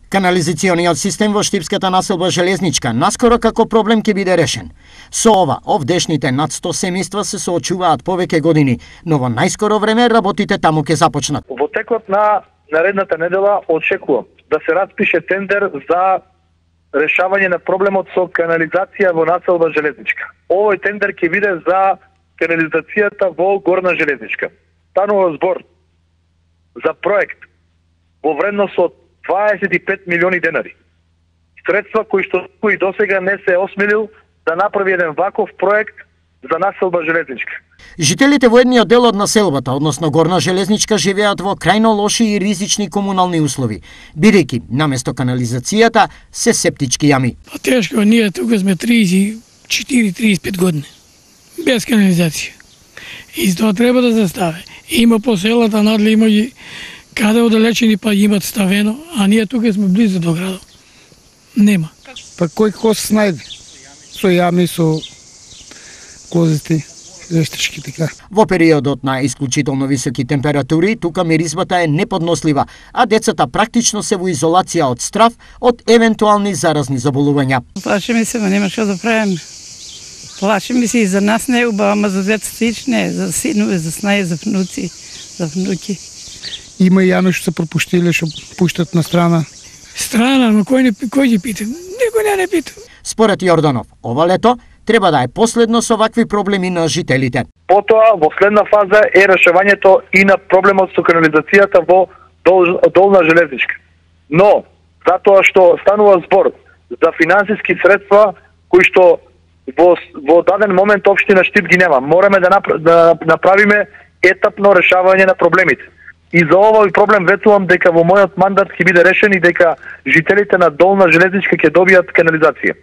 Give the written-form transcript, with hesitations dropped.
Канализациониот систем во Штипската населба Железничка наскоро како проблем ќе биде решен. Со ова, овдешните над 100 семејства се соочуваат повеќе години, но во најскоро време работите таму ќе започнат. Во текот на наредната недела очекувам да се распише тендер за решавање на проблемот со канализација во населба Железничка. Овој тендер ќе биде за канализацијата во Горна Железничка. Станува збор за проект во вредност од 25 милиони денари. Средства кои досега не се осмелил да направи еден ваков проект за населба Железничка. Жителите во едниот дел од населбата, односно Горна Железничка, живеат во крајно лоши и ризични комунални услови, бидејќи наместо канализацијата се септички јами. Тешко, ние тука сме 34-35 години без канализација. И тоа треба да се стави. Има по селата надле, има и каде оддалечени па имат ставено, а ние тука сме близо до градот. Нема. Па кој се најде? Со јами, со козите, вештички така. Во периодот на исклучително високи температури, тука миризбата е неподнослива, а децата практично се во изолација од страв од евентуални заразни заболувања. Плашиме се, но нема што да правиме. Плашиме се и за нас не е убаво, ама за децата не, за синове, за снаје, за внуци, за внуки. Има и јано што се пропуштиле, што пуштат на страна. Страна, но кој ќе пита? Никој не пита. Според Јорданов, ова лето треба да е последно со вакви проблеми на жителите. Потоа, во следна фаза е решавањето и на проблемот со канализацијата во Долна Железничка. Но, затоа што станува збор за финансиски средства кои што во даден момент општина Штип ги нема. Мораме да направиме етапно решавање на проблемите. И за овој проблем ветувам дека во мојот мандат ќе биде решен и дека жителите на Долна Железничка ќе добијат канализација.